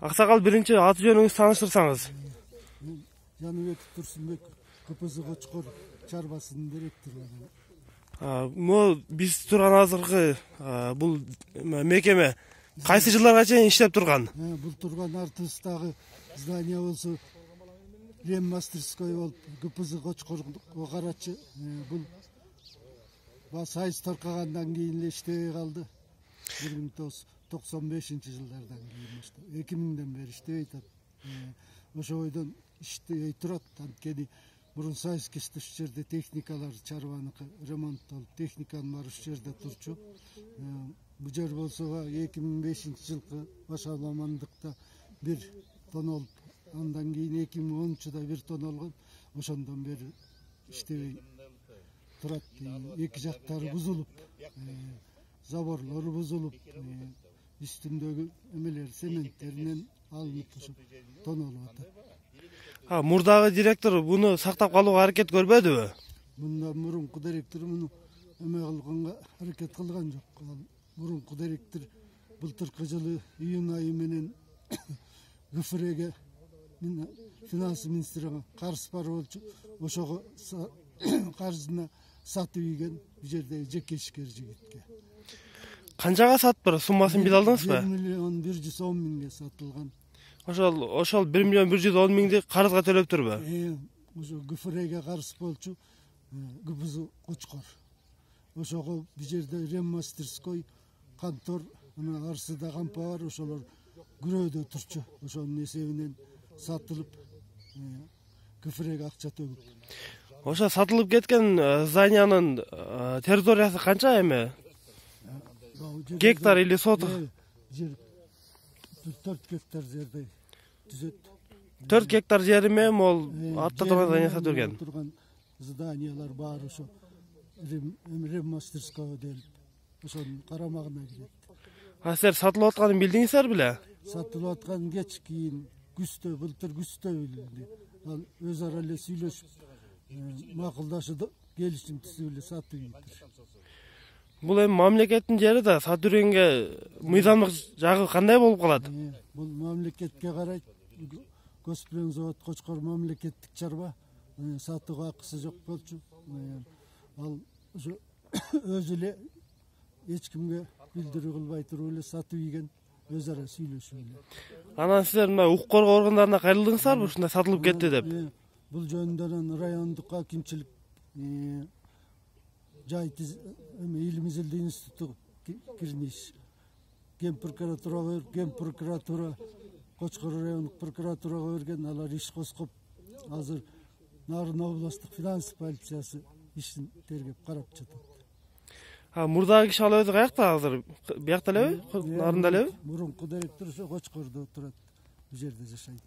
Аксакал, биринчи аты жөнүңүздү тааныштырсаңыз. Жаныбек Турсунбек, КПЗ Кочкор чарбасынын директору. Биз турган азыркы бул мекеме кайсы жылдарга чейин иштеп турган? Бул турган артыбыздагы здание болсо Реммастерской болуп, КПЗ Кочкорго карачы. Бул сайыс таркагандан кийин эле иштебей калды. 1995-жылдардан кийин 2000ден бери иштебей атат. Ошо бойдон иштебей турат. Анткени мурун сайыс кештеш жерде техникалар чарбаныкы ремонттолуп, техниканын баары ушул жерде турчу. Бул жер болсо 2005-жылкы башаламандыкта бир тонолуп, андан кийин 2010-да бир тонолгон. Ошондон бери иштебей турат. Эки жактары бузулуп, заборлору бузулуп, үстүндөгү эмелер цементтеринен алынып ошо тонолуп атат. Мурдагы директор буну сактап калууга аракет көрбөдүбү? Мындан мурунку директор муну эме кылганга аракет кылган жок. Мурунку директор былтыркы жылы июнь айы менен ГФРге финанс министрине карыз бар болчу. Ошого карызына сатып ийген бул жердеги жеке ишкер жигитке. Канчага сатып, суммасын биле алдыңызбы? 1.110.000 сатылган. Ошол 1.110.000 карызга төлөп турбу? Ошо ГФРге карыз болчу, КПЗ Кочкор. Ошого бул жерде Реммастерской контор, арсыда кампа бар, ошолор күрөөдө турчу. Ошонун эсебинен сатылып, ГФРге акча төгүп. Ошо сатылып кеткен зданиянын территориясы канча эми? Гектар или соток? Жер 4 гектар жерде түзөт. 4 гектар жери менен ол атта турган здание сатып берген. Турган зданиялар баары ошо Реммастерского делип, ошонун карамагына кирет. Силер сатылып атканын билдиңиздер беле? Сатылып аткан кеч кийин күздө, былтыр күздө билди. Ал өз ара эле сүйлөшүп, макулдашып, келишим түзүп эле сатып ийдир. Бул эми мамлекеттин жери да сатып жүргөнгө мыйзамдык жагы кандай болуп калат? Бул мамлекетке карайт. Госплензавод Кочкор мамлекеттик чарба, сатууга акысы жок болчу. Ал ошо өзү эле эч кимге билдирүү кылбай туруп эле сатып ийген, өз ара сүйлөшүп эле. Анан силер мына укук коргоо органдарына кайрылдыңыздарбы ушундай сатылып кетти деп? Бул жөнүндө райондук акимчилик, Илим изилдөө институту кирмиш, Ген прокуратура, Кочкор райондук прокуратурага берген, алар иш козгоп, азыр Нарын областтык финанс полициясы ишин тергеп карап жатат. Мурдагы киши ал өзү каякта азыр? Биякта элеби? Нарында элеби? Мурунку директор ошо Кочкордо турат, бул жерде жашайт.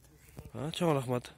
Чоң рахмат.